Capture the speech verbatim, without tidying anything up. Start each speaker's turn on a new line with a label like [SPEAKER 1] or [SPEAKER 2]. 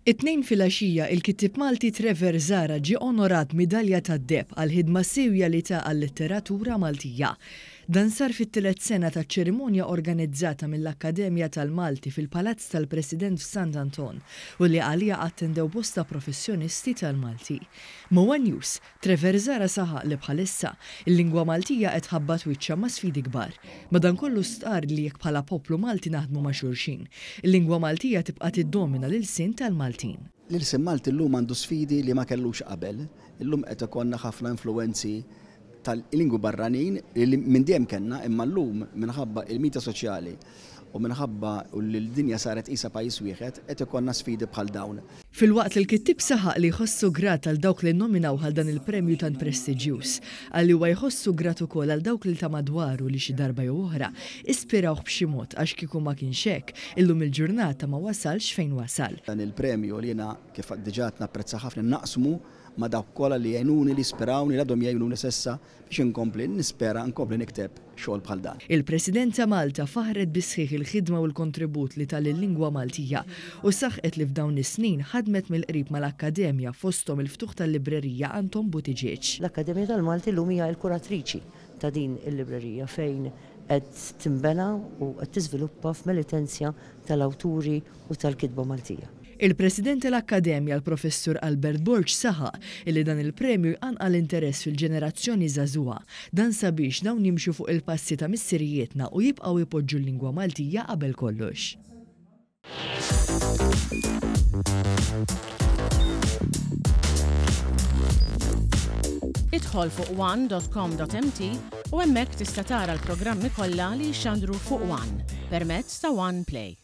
[SPEAKER 1] It-Tnejn filgħaxija, il-kittieb Malti Trevor Zahra ġie onorat midalja tad-deheb għall-ħidma siewja li ta għal-letteratura Maltija. Dan sar fit-tielet sena taċ-ċerimonja organizzata mill-Akkademja tal-Malti fil-Palazz tal-President f'Sant Anton u li għaliha attendew bosta professjonisti tal-Malti. Ma' One News, Trevor Zahra saħaq li bħalissa il-lingwa Maltija qed tħabbat wiċċha ma' sfidi kbar. Madankollu stqarr li jekk bħala poplu Malti naħdmu ma' xulxin, il-lingwa Maltija tibqa' tiddomina l-ilsien tal-Maltin.
[SPEAKER 2] L-ilsien Malti llum għandu sfidi li ma kellux qabel. Illum qed ikollna ħafna influenzi tal-lingwi barranin li minn dejjem kellna, imma llum minħabba il-midja soċjali u minħabba li l-dinja saret qisha pajjiż wieħed, qed ikollna sfidi bħal dawn.
[SPEAKER 1] Filwaqt li l-kittieb saħaq li jħossu grat għal dawk li nominaw għal dan il-premju tant prestiġjuż, qal li huwa jħossu grat ukoll għal dawk li ta' madwaru li xi darba jew oħra ispirawh b'xi mod, għax kieku ma kienx hekk, illum il-ġurnata ma wasalx fejn wasal.
[SPEAKER 2] Dan il-premju li jiena kif diġà napprezza ħafna naqsmu ma' dawk kollha li jgħinuni, li ispirawni, li għadhom jgħinuni s'issa biex inkompli nispera nkompli nikteb xogħol bħal dan.
[SPEAKER 1] Il-President ta' Malta faħret bisħiħ il-ħidma u l-kontribut li tal-lingwa Maltija u saħqet li f'dawn is-snin ħadmet mill-qrib mal-Akkademja, fosthom il-ftuħ tal-librerija Anton Buttigieg.
[SPEAKER 3] L-Akkademja tal-Malti llum hija l-kuratriċi ta' din il-librerija fejn qed timbena u qed tiżviluppa f'melitenzja tal-awturi u tal-kitba Maltija.
[SPEAKER 1] Il-President tal-Akkademja, l-Professur Albert Borg, saħaq illi dan il-premju jqanqal interess fil-ġenerazzjoni żagħżugħa, dan sabiex dawn jimxu fuq il-passi ta' missirijietna u jibqgħu jpoġġu l-lingwa Maltija qabel kollox.
[SPEAKER 4] Idħol fuq one dot com dot M T u hemmhekk tista' tara l-programmi kollha li jxandru fuq One permezz ta' One Play.